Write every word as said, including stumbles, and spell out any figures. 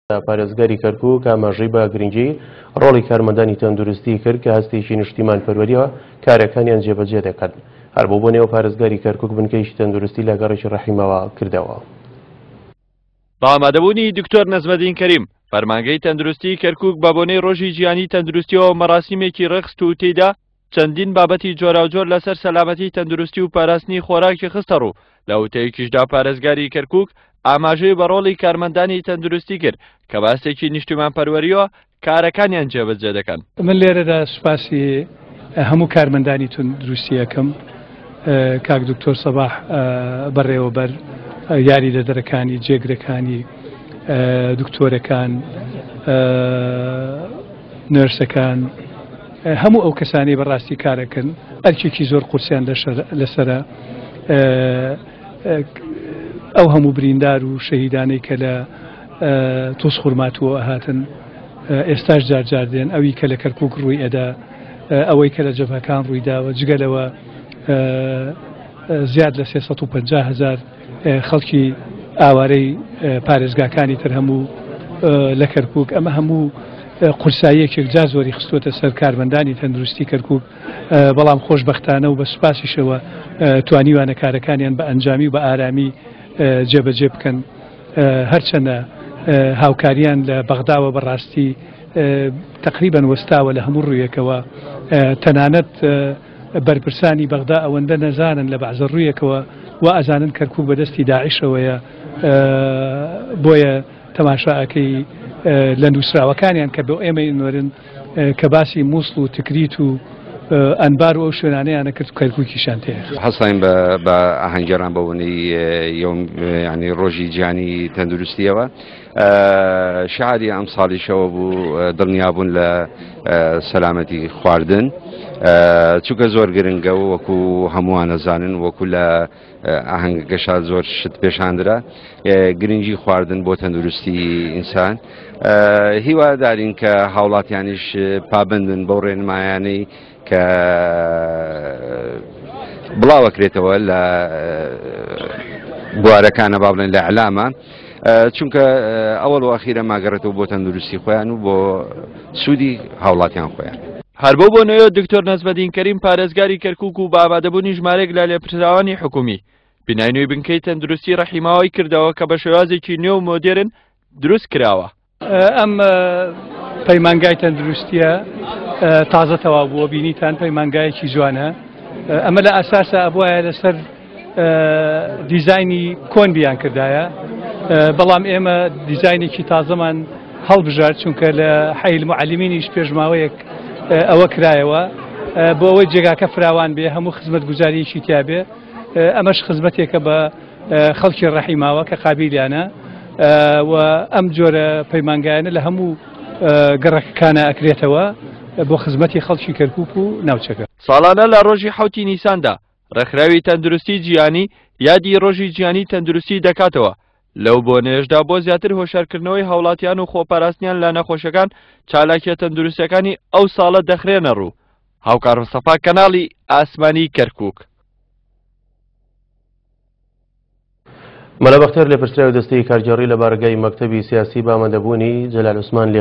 پارێزگاری کەرکووک ئاماژەی بە گرنگی ڕۆڵی کارمەندانی تەندروستی کرد کە هەستێکی نیشتیمانپەروەریەوە کارەکانیان جێبەجێ دەکەن. هەر بۆ بۆنەوە پارێزگاری کەرکووک بنکەیەکی تەندروستی لە گەڕەکی ڕەحیماوە کردەوە. بە ئامادەبوونی دکتۆر نەجمەدین کەریم، فەرمانگەی تەندروستی کەرکووک بە بۆنەی ڕۆژی جیهانی تەندروستیەوە مەراسیمێکی ڕێکخست و تێیدا چەندین بابەتی جۆراوجۆر لەسەر سەلامەتی تەندروستی و پاراستنی خۆراکی خستە ڕوو. لە وتەیەکیشدا پارێزگاری کەرکووک ئاماژەی بە ڕۆڵی کارمەندانی تەندروستی کرد کە باسێکی نیشتیمانپەروەریەوە کارەکانیان جێبەجێ دەکەن. من لێرەدا سوپاسی هەموو کارمەندانی تەندروستی ئەکەم، کاک دکتۆر سەباح بەڕێوەبەر، یاریدەدەرەکانی، جێگرەکانی، دکتۆرەکان، نەرسەکان، هەموو ئەو کەسانی بەڕاستی کارەکەن ئەرکێکی زۆر قورسیان لەسەرە. ئەو هەموو بریندار و شەهیدانەی کە لە تووس خورماتووە هاتن ئێستاش جار جار دێن، ئەوی کە لە کەرکووک ڕووی ئەدا، ئەوەی کە لە جەبهەکان ڕووی داوە، جگە لەوە زیاد لە سێ سەد و پەنجا هەزار خەڵکی ئاوارەی پارێزگاکانی تر هەموو لە کەرکووک. ئەمە هەموو قورساییەکێک جار زۆری خستووەتە سەر کارمەندانی تەندروستی کەرکووک، بەڵام خۆشبەختانە و بە سوپاسیشەوە توانیوانە کارەکانیان بە ئەنجامی و بە ئارامی جێبەجێ بکەن. هەرچەندە هاوکاریان لە بەغداوە بەڕاستی تقریبا وەستاوە لە هەموو ڕوویەکەوە، تەنانەت بەرپرسانی بەغدا ئەوەندە نەزانن لە بەعزە ڕوویەکەوە و ئەزانن کەرکووک بەدەستی داعشەوەیە، بۆیە تەماشاکەی لە نووسراوەکانیان کە بۆ ئێمەی نوێرن کە باسی مووسڵ و تکریت و ئەنبار و ئەو شوێنانەیانە کرد کەرکووکیشان تێ. هەستاین بە ئاهەنگێڕان بە بۆنەی ینی ڕۆژی جیهانی تەندروستیەوە. شعاری ئەم ساڵیشەوە بوو دڵنیابوون لە سەلامەتی خواردن، چونکە زۆر گرنگە و وەکو هەمووان نەزانن، وەکو لە ئاهەنگەکەشا زۆر شت پێشاندرا گرنگی خواردن بۆ تەندروستی ئینسان. هیوادارین کە هاوڵاتیانیش پابندن بەو ڕێنمایانەی کە بڵاوەکرێتەوە لە بوارەکانە، با بڵێن لە ئەعلامە، چونکە ئەوەڵ و ئەخیرە ماگەڕێتەوە بۆ تەندروستی خۆیان و بۆ سوودی هاوڵاتیان خۆیان. هەر بۆ بۆنەوە دکتۆر نەجمەدین کەریم پارێزگاری کەرکووک و بە ئامادەبوونی ژمارەیەک لە لێپرسراوانی حکوومی بینای نوێی بنکەی تەندروستی ڕەحیماوەی کردەوە کە بە شێوازێکی نوێ و مۆدێرن دروست کراوە. ئەم پەیمانگای تەندروستیە تازە تەواو بووە، بینیتان پەیمانگایەکی جوانە. ئەمە لە ئەساسە ئەبوایە لەسەر دیزاینی کۆن بیان کردایە، بەڵام ئێمە دیزاینێکی تازەمان هەڵبژارد، چونکە لە حەیل معەلیمینیش پێشماوەیەک ئەوە کرایەوە بۆ ئەوەی جێگاکە فراوان بێ، هەموو خزمەتگوزاریەکی تیا بێ. ئەمەش خزمەتێکە بە خەڵکی ڕەحیماوە کە قابیلیانە و ئەم جۆرە پەیمانگایانە لە هەموو گەڕەکەکانە ئەکرێتەوە بۆ خزمەتی خەڵکی کەرکووک و ناوچەکە. ساڵانە لە ڕۆژی حەوتی نیساندا ڕێکخراوی تەندروستی جیهانی یادی ڕۆژی جیهانی تەندروستی دەکاتەوە. لەو بۆنەیەشدا بۆ زیاتر هۆشارکردنەوەی هاوڵاتیان و خۆپاراستنیان لە نەخۆشەکان چالاکیە تەندروستیەکانی ئەو ساڵە دەخرێنە ڕوو. هاوکار مستەفا، کەناڵی ئاسمانی کەرکووک. مەلا بەختیار لێپرسراوی دەستەی کارگێڕی لە بارگای مەکتەبی سیاسی بە ئامادەبوونی جەلال عوسمان لێ